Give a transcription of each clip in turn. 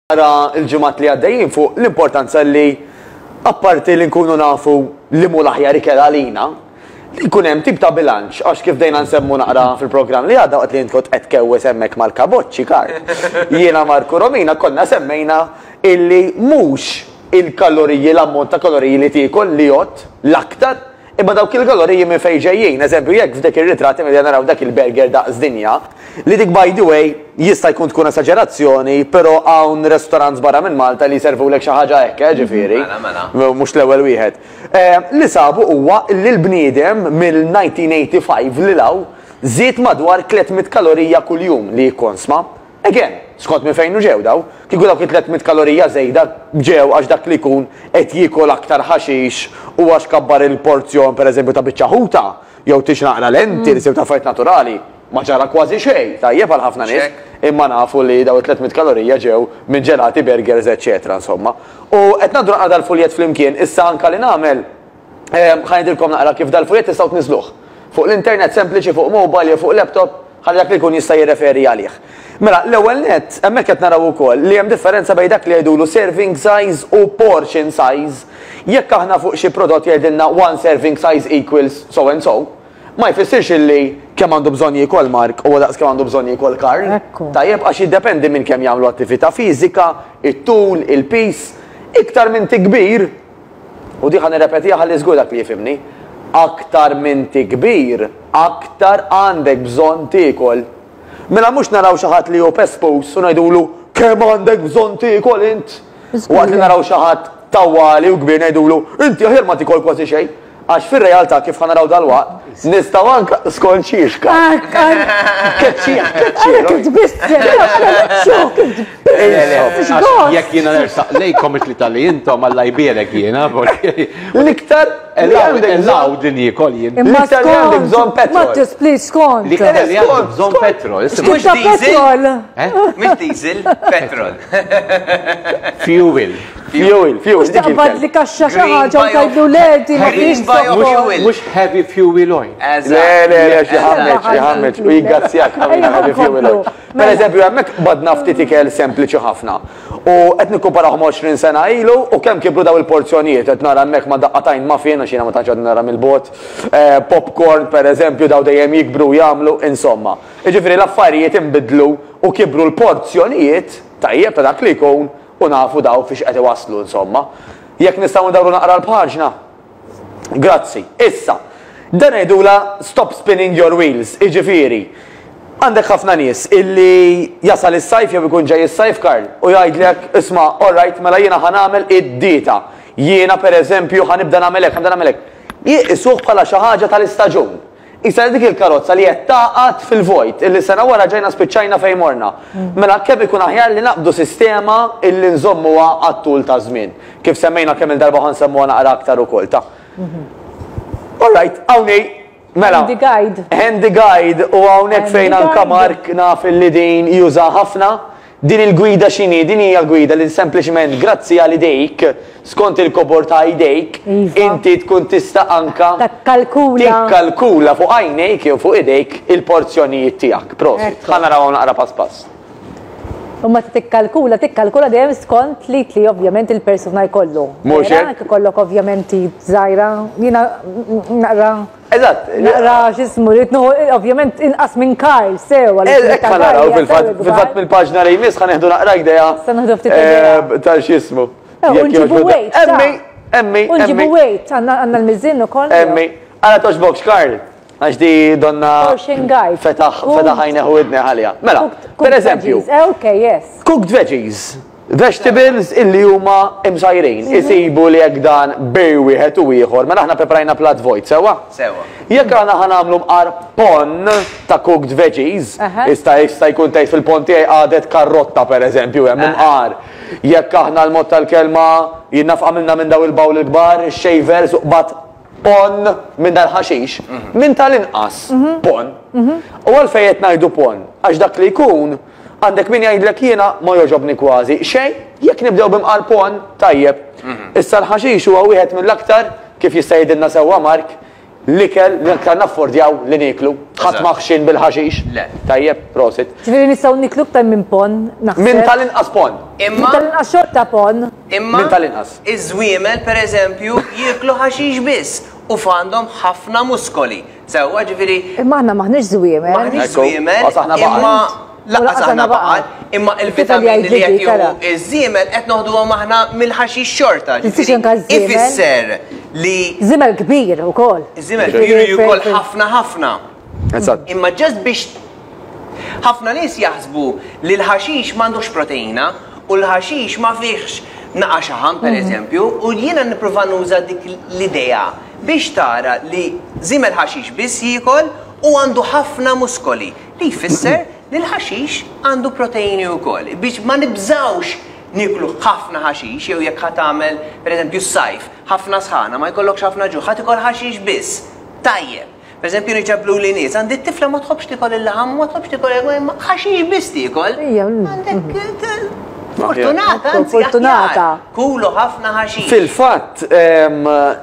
Naqra l-ġimgħat li għaddejjin fuq l-importanza li apparti li nkunu nafu li mhu l-aħjar ikel għalina, li jkun hemm tip ta' bilanċ għax kif bdejna nsemmu naqra fil-programm li għadda waqt li int kont qed tkewwes hemmhekk mal-kaboċċi Karl, jiena Marku Romina konna semmejna illi mhux il-kaloriji l-ammont ta' kaloriji li tiekol li jgħodd l-aktar Imma dawk il-kaloriji minn fejn ġejjin? Eżempju, jekk f'dik ir-ritratt qegħdin naraw dak il-burger daqs dinja, li dik by the way jista' jkun tkun esaġerazzjoni, però hawn restaurants barra minn Malta li jservulek xi ħaġa hekk, eh, ġifieri. Mela, mela. Mhux l-ewwel wieħed. Li sabu huwa li l-bniedem mill-1985 lil hawn żied madwar 300 kalorija kuljum li jikkonsma. Again, skont minn fejn ġew daw. Kieku dawk it-300 kalorija żejda ġew għax dak li jkun qed jiekol aktar ħaxix u għax kabbar il-porzjon pereżempju ta' biċċa ħuta, jew tix naqra lentils jew ta' affarijiet naturali, ma ġara kważi xejn, tajjeb għal ħafna nies, imma nafu li daw it-300 kalorija ġew minn ġelati, burgers, eċċetera insomma. U qed ngħaddu naqra dal-fuljett flimkien, issa anka li nagħmel, Ħa ngħidilkom naqra kif dal-fuljett tistgħu tniżżluh. Fuq l-internet sempliċi, fuq mobile jew fuq laptop, ħalli dak li jkun jista' jirreferi għalih. Mela, l-ewwel nett, hemmhekk qed naraw ukoll li hemm differenza bejn dak li jgħidulu serving size u portion size. Jekk aħna fuq xi prodott jgħidilna one serving size equals so and so, ma jfissirx illi kemm għandu bżonn jiekol Mark huwa daqs kemm għandu bżonn jiekol Karl. Tajjeb, għax jiddependi minn kemm jagħmlu attività fiżika, it-tul, il-piż. Iktar minn tikbir, U di ħa nirrepetiha ħalli żgur dak li jifhimni. Aktar m'inti kbir, aktar għandek bżonn tiekol. Mela mhux naraw xi ħadd li hu pespus u ngħidulu kemm għandek bżonn tiekol int. Waqt li naraw xi ħadd tawwali u kbir ngħidulu inti aħjar ma tiekol kważi xejn. Għax fir-realtà kif ħa naraw dalwaqt, nistgħu anke skont xiex Keċċieħ, keċċieħ. Kif tbissem, kif tbissem. Jekk jiena nersaq lejkom it-tlieta li intom Alla jbierek jiena. L-iktar Ellaw din jiekol jien. L-iktar li għandek bżonn petrol. Mattis, please, skont. L-iktar li għandek bżonn petrol. Mhux diesel. Mhux diesel, petrol. Fuel. Fuel, fuel. Mhux taqbad li kaxxa xi ħaġa u tgħidlu le di ma fiex bżonn. Mhux heavy fuel oil. Le, le, le, xi ħammeġ, xi ħammeġ, u jiggazzjak ħafna heavy fuel oil. Per eżempju, hemmhekk badna ftit ikel sempliċi ħafna. U qed nikkumparahom 20 sena ilu u kemm kibru daw il-porzjonijiet, qed nara hemmhekk ma' daqqatajn muffin għax jiena ma tantx għadni nara mill-bogħod. Popcorn, per eżempju, daw dejjem jikbru u jagħmlu, insomma. Jiġifieri l-affarijiet inbidlu u kibru l-porzjonijiet, tajjeb ta' dak li jkun, U nafu daw fiex qed iwasslu insomma. Jekk nistgħu ndawru naqra l-paġna. Grazzi. Issa, dan ngħidulha stop spinning your wheels, jiġifieri, għandek ħafna nies illi jasal is-sajf jew ikun ġej is-sajf Karl u jgħidlek isma' all right mela jiena ħa nagħmel id-dieta. Jiena pereżempju ħa nibda nagħmel hekk, ħa nibda nagħmel hekk. Jqisuh bħala xi ħaġa tal-istaġun. Qisha dik il-karozza li qed tagħqad fil-vojt, illi sena wara ġejna spiċċajna fejn morna. Mela kemm ikun aħjar li naqbdu sistema illi nżommuha għat-tul taż-żmien. Kif semmejna kemm-il darba ħa nsemmuha naqra aktar ukoll ta'. All right, hawn hi, mela. Handy guide. Handy guide u hawnhekk fejn anka Mark naf illi din juża ħafna. Din il-gwida x'inhi? Din hija gwida li sempliċement grazzi għal idejk, skont il-kobor ta' idejk, inti tkun tista' anka Tikkalkula. tikkalkula fuq għajnejk jew fuq idejk il-porzjonijiet tiegħek. Prosit. Ħa narawhom naqra pass pass. U meta tikkalkula, tikkalkula dejjem skont l-id li ovvjament il-persuna jkollu. Mhux hekk? Jekk ikollok ovvjament id żgħira, jiena naqra Eżatt. Naqra x'ismu, rrid nieħu ovvjament inqas minn Karl sew. Hekk ħa naraw fil-fatt, fil-fatt mill-paġna li jmiss ħa nieħdu naqra idea. Se nieħdu ftit idea. Ta' x'ismu. U nġibu weight. Emmi, emmi. U nġibu weight, għandna l-miżin ukoll. Emmi. Għala toġbokx Karl. Għax di donna. Portion guide. Fetaħ, fetaħ għajneħ u idne għalija. Mela, per eżempju. Ok, yes. Cooked veggies. Vegetables illi huma imsajrin, isibu li jekk dan bej wieħed u ieħor, mela aħna preparajna plat vojt, sewwa? Sewwa. Jekk aħna ħa nagħmlu mqar ponn ta' cooked veggies, jista' jista' jkun tgħid fil-ponn tiegħi qagħdet karrotta pereżempju hemm imqar. Jekk aħna l-mod tal-kelma jien naf għamilna minn daw il-bowl il-kbar, ix-shavers u qbadt ponn minn dal-ħaxix, minn tal-inqas ponn. U għalfejn qed ngħidu ponn? Għax dak li jkun Għandek min jgħidlek jiena ma jogħġobni kważi xejn, jekk nibdew b'imqar ponn, tajjeb. Issa l-ħaxix huwa wieħed mill-aktar, kif jista' jgħidilna sewwa Mark, L-ikel li aktar naffordjaw li nieklu. Ħadd ma ħxien bil-ħaxix. Le. Tajjeb, prosit. Ġifieri nistgħu nieklu iktar minn ponn, naħseb. Minn tal-inqas ponn. Imma. Minn tal-inqas xorta ponn. Imma. Minn tal-inqas. Iż-żwiemel, pereżempju, jieklu ħaxix biss u f'għandhom ħafna muskoli. Sewwa, ġifieri. Imma aħna m'aħniex żwiemel. M'aħniex żwiemel, imma lanqas aħna baqar, imma il-vitamini li qed jieħu iż-żiemel qed noħduhom aħna mill-ħaxix xorta. Ġifieri ifisser li. Żiemel kbir ukoll. Żiemel kbir u jiekol ħafna ħafna. Eżatt. Imma just biex ħafna nies jaħsbu li l-ħaxix m'għandux proteina u l-ħaxix ma fihx naqa' xaħam pereżempju, u jiena nipprova nuża dik l-idea biex tara li żiemel ħaxix biss jiekol u għandu ħafna muskoli, li jfisser li l-ħaxix għandu proteini wkoll. Biex ma nibżgħux nieklu ħafna ħaxix jew jekk ħa tagħmel pereżempju s-sajf, ħafna sħana, ma jkollokx ħafna ġuħ, ħa tikol ħaxix biss. Tajjeb. Pereżempju niġabluli nies, għandi t-tifla ma tħobbx tikol il-laħam, ma tħobbx tikol imma ħaxix biss tiekol. Għandek fortunata, anzi Fortunata. Kulu ħafna ħaxix. Fil-fatt,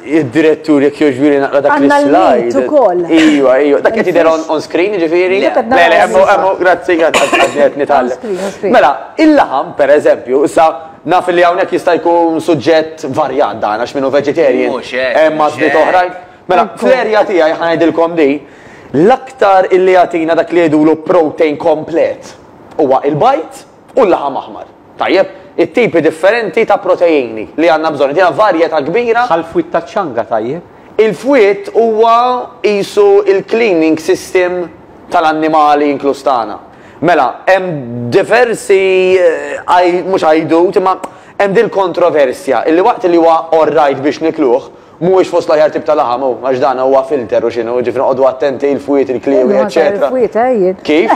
id-direttur jekk jogħġbili naqra dak Għandna l-slide. l-meat ukoll. Iva, iva. Dak qed jidher on on screen, ġifieri? Le. Le, le, hemmu, hemmu, grazzi, grazzi, għadni qed nitgħallem. On screen, on screen. Mela, il-laħam, per eżempju, issa naf li hawnhekk jista' jkun suġġett varjat dan għax minnu vegetarian. Mhux hekk, Hemm mhux għażliet hekk. oħrajn. Mela, fl-erja tiegħi ħa ngħidilkom di, l-aktar illi jagħtina dak li jgħidulu protein komplet huwa il-bajd u l-laħam aħmar. Tajjeb, it-tipi differenti ta' proteini li għandna bżonn. Jagħtina varjetà kbira. Bħal fwied ta' ċanga tajjeb. Il-fwied huwa qisu il-cleaning system tal-annimali inkluż tagħna. Mela, hemm diversi mhux għajdut, imma hemm dil-kontroversja illi waqt li huwa all right biex nikluh, Mhuwiex fost l-aħjar tip ta' laħam hu, għax dan huwa filter u x'inhu, jiġifieri noqogħdu attenti il-fwied, il-kliewi, eċċetera. Il-fwied, eh, jien. Kif?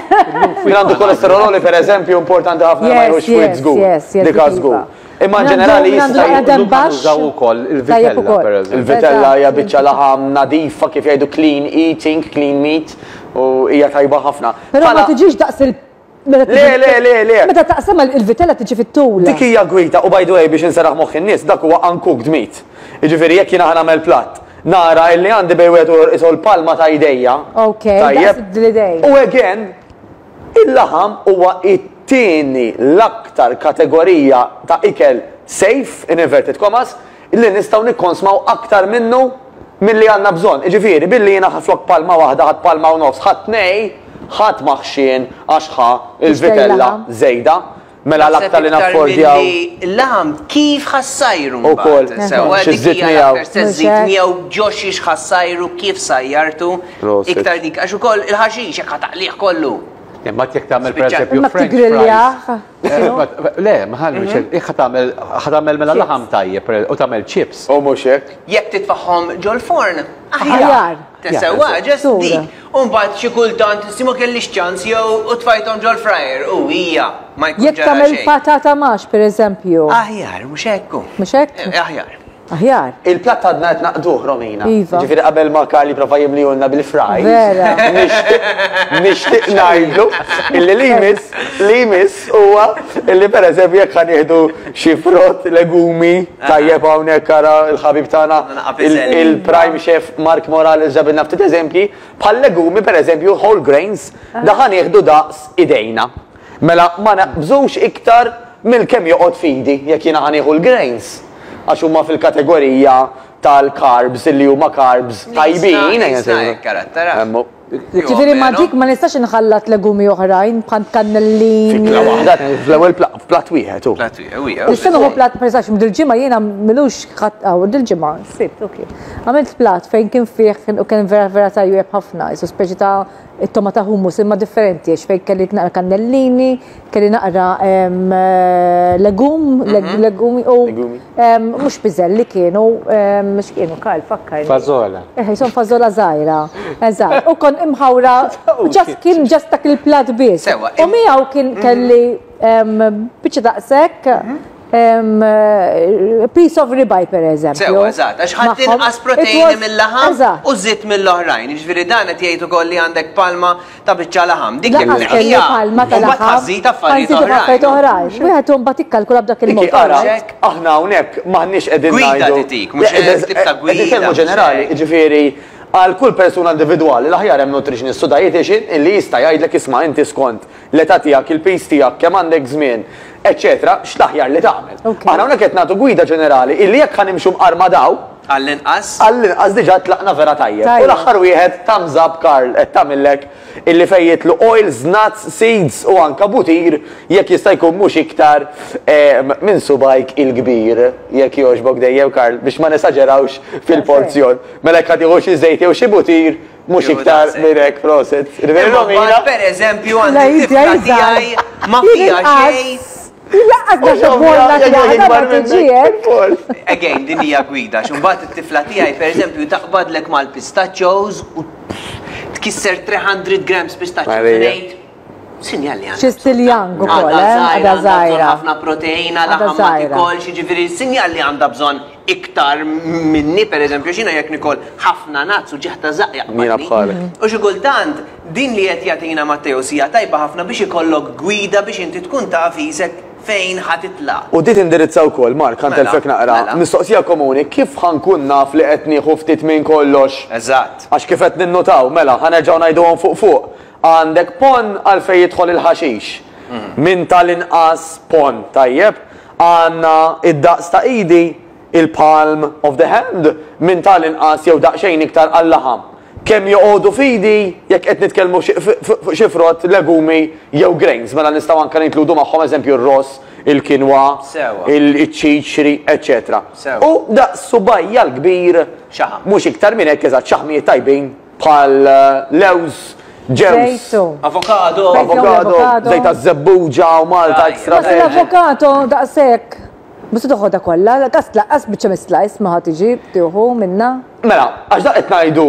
Min għandu kolesterol għoli pereżempju importanti ħafna li ma jieħux fwied żgur. Dik żgur. Imma in ġenerali jista' jkun nużaw ukoll il-vitella pereżempju. Il-vitella hija biċċa laħam nadifa kif jgħidu clean eating, clean meat u hija tajba ħafna. Però ma tiġix daqs il Le, le, le, le. Meta taqsam il-vitella tiġi fit-tul. Dik hija gwida u by the way biex inserraħ moħħ in-nies dak huwa uncooked meat. Jiġifieri jekk jiena ħa nagħmel platt, nara illi għandi bejn wieħed u ieħor qisu l-palma ta' jdejja. Ok, daqs l-idejn. U again, il-laħam huwa it-tieni l-aktar kategorija ta' ikel safe, in inverted commas, li nistgħu nikkonsmaw aktar minnu milli għandna bżonn. Jiġifieri, billi jiena flok palma waħda ħadt palma u nofs, ħadt tnej, ħadd ma ħxien għax ħa l-vitella żejda. Mela l-aktar li naffordjaw. Il-laħam kif ħa ssajru Ukoll. mbagħad. Sewwa Xi dik żżid hija miegħu. l-aktar se żżid miegħu ġo xiex ħa ssajru, kif sajjartu. Prosit. Iktar dik għax ukoll il-ħaxix jekk ħa taqlih kollu. Imma jekk tagħmel Spiċċat. pereżempju Imma French tigrilljah. fries. Le, ma ħallu jekk ħa tagħmel ħa tagħmel mela laħam tajjeb u tagħmel chips. U mhux hekk. Jekk titfagħhom ġol-forn, Aħjar. aħjar. Sewwa, just Sura. dik. U mbagħad xi kultant si ma kellix ċans jew u tfajthom ġol-fryer u hija ma jkun Jekk ġara tagħmel xejn. patata max pereżempju. Aħjar, mhux hekk hu. Mhux hekk? Eh, Aħjar. Aħjar. Il-platt għadna qed naqduh, Romina. Iva. Ġifieri qabel ma Karl jipprova jimlihulna bil-fries. Vera. Nixtieq ngħidlu illi li jmiss li jmiss huwa illi pereżempju jekk ħa nieħdu xi frott, legumi, tajjeb hawnhekk ara l-ħabib tagħna il-prime chef Mark Morales ġabilna ftit eżempji, bħal legumi pereżempju whole grains, da ħa nieħdu daqs idejna. Mela ma naqbżux iktar mill kemm joqgħod f'idi jekk jiena ħa nieħu l-grains għax huma fil-kategorija tal-carbs illi huma carbs tajbin. Ejja nsejħu. Ġifieri ma' dik ma nistax inħallat legumi oħrajn bħal kannellini. F'ikla waħda, fl-ewwel f'platt wieħed hu. Platt wieħed, Nista' nieħu platt pereżempju dil-ġimgħa jiena m'ilux ħadd hawn dil-ġimgħa, sibt, ok. Għamilt platt fejn kien fih u kien vera vera tajjeb ħafna, qisu speċi ta' It-togħma ta' hummus imma differenti għax fejn kelli naqra kannellini, kelli naqra legum, legumi u mhux piżelli kienu, x'kienu Karl fakkarni. Fażola. Eh, jisom fażola żgħira. Eżatt. U kon imħawra just kien just dak il-plat biss. U miegħu kien kelli biċċa daqshekk Piece of ribeye per eżempju. Sewa, eżatt, għax ħadd inqas proteini mill-laħam u żitt mill-oħrajn. Jiġifieri dan qed jgħid ukoll li għandek palma ta' biċċa laħam. Dik jekk tneħħiha. Palma ta' laħam. Ħażid affarijiet oħrajn. Wieħed imbagħad ikkalkula b'dak il-mod. Aħna hawnhekk m'aħniex qegħdin ngħidu. Gwida titik, mhux tip ta' gwida. Qegħdin ġenerali, jiġifieri. Għal kull persuna individwali l-aħjar hemm nutritionist u dietitian illi jista' jgħidlek isma' inti skont l-età tiegħek, il-piż tiegħek, kemm għandek żmien, eċċetera, x'l-aħjar li tagħmel. Aħna hawnhekk qed nagħtu gwida ġenerali illi jekk ħa nimxu mqar ma' daw, Għall-inqas. Għall-inqas diġà tlaqna vera tajjeb. U l-aħħar wieħed thumbs up Karl qed tagħmillek illi fejn jidħlu oils, nuts, seeds u anka butir jekk jista' jkun mhux iktar minn subgħajk il-kbir jekk jogħġbok dejjem Karl biex ma nesaġerawx fil-porzjon. Mela jekk ħa tieħu xi żejt jew xi butir mhux iktar minn hekk prosit. Imma mbagħad pereżempju għandi t-tifla tiegħi ma fiha xejn. Laqqas dak il-bolla tiegħek ma tiġi hekk. Again, din hija gwida, għax imbagħad it-tifla tiegħi pereżempju taqbadlek mal-pistachios u tkisser 300 grams pistachios u ngħid sinjal li għandha. Xi still young ukoll, eh? Għadha żgħira. Ħafna proteina, laħam ma tikolx, jiġifieri sinjal li għandha bżonn iktar minni, per eżempju, xina jekk nikol ħafna nazz u ġeħta zaq jaqbadni. Jiena bħalek. U xi kultant din li qed jagħtina Matteo hija tajba ħafna biex ikollok gwida biex inti tkun taf isek fejn ħa titlaq. U di tindirizza wkoll, Mark, ħa ntellfek Mela, naqra, mela. mistoqsija komuni, kif ħa nkun naf li qed nieħu ftit minn kollox? Eżatt. Għax kif qed ninnutaw, mela, ħa nerġgħu ngħiduhom fuq fuq. Għandek ponn għalfejn jidħol il-ħaxix. Minn tal-inqas ponn, tajjeb? Għandna id-daqs ta' idi, il-palm of the hand, minn tal-inqas jew daqsxejn iktar għal-laħam. Kemm joqogħdu f'idi jekk qed nitkellmu fuq xi frott, legumi jew grains, mela nistgħu anke ninkludu magħhom eżempju r-ross, il-kinwa, iċ-ċiċri, eċċetera. U daqs subgħajja l-kbir, mhux iktar minn hekk eżatt, xaħmijiet tajbin bħal lewż, ġewż, Avokado. Avokado, żejt taż-żebbuġa u Malta extra virgin. L-avokado daqshekk. Mhux se toħodha kollha, lanqas lanqas biċċa mis-slice ma ħa tiġi tieħu minnha. Mela, għax dak qed ngħidu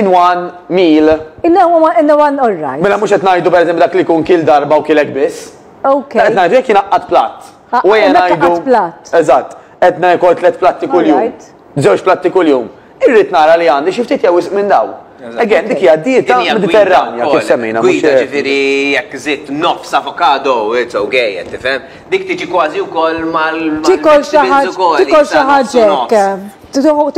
in one meal. In one, in one all right. Mela mhux qed ngħidu pereżempju dak li jkun kiel darba u kiel hekk biss. Ok. Dak qed ngħidu jekk jingħaqqad platt. Ah, U ejja hemmhekk ngħidu. għaqqad platt. Eżatt. Qed niekol tliet platti kuljum. All right. Żewġ platti kuljum. Irrid nara li għandi xi ftit jew wisq minn dawn. Again, dik hija dieta Mediterranja kif semmejna. Gwida ġifieri jekk żidt nofs avokado, it's okay, qed tifhem. Dik tiġi kważi wkoll mal Tikol xi ħaġa, tikol xi ħaġa hekk.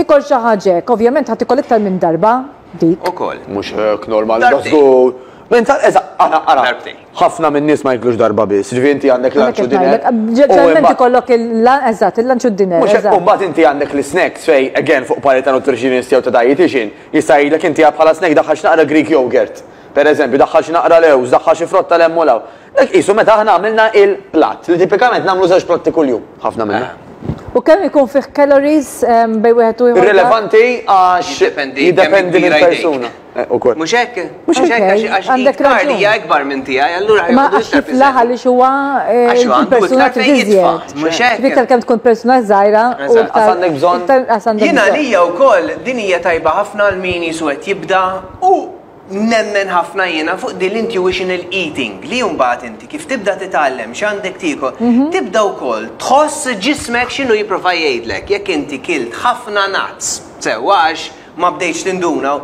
Tikol xi ħaġa hekk, ovvjament ħa tikol iktar minn darba dik. Ukoll. Mhux hekk normali, żgur. Minn tal eżatt, ara, ara. Darbtejn. Ħafna min-nies ma jiklux darba biss, ġifieri inti għandek lunch u dinner. Ġeneralment ikollok il-eżatt, il-lunch u d-dinner. Mhux hekk, u mbagħad inti għandek l-isnacks fejn, again, fuq parir ta' nutritionist jew ta' dietitian, jista' jgħidlek inti bħala snack daħħal xi naqra Greek yogurt, per eżempju, daħħal xi naqra lewż, daħħal xi frotta 'l hemm u 'l hawn. Dak qisu meta aħna għamilna il-platt, li tipikament nagħmlu żewġ platti kuljum, ħafna minna. U kemm ikun fih calories bejn wieħed u ieħor? Irrilevanti għax jiddependi mill-persuna. Eh, ukoll. Mhux hekk? Mhux hekk għax għandek raġun. Hija ikbar minn tiegħi, allura Ma għax jiflaħ għaliex huwa eh, persuna trid Mhux hekk. Iktar kemm tkun persuna żgħira u iktar għandek bżonn. Jiena għalija wkoll din hija tajba ħafna għal min jisu qed jibda u nemmen ħafna jiena fuq din l-intuitional eating li mbagħad inti kif tibda titgħallem x'għandek tiekol, mhm. tibda wkoll tħoss ġismek x'inhu jipprova jgħidlek jekk inti kilt ħafna nuts, sewwa għax ma bdejtx tinduna.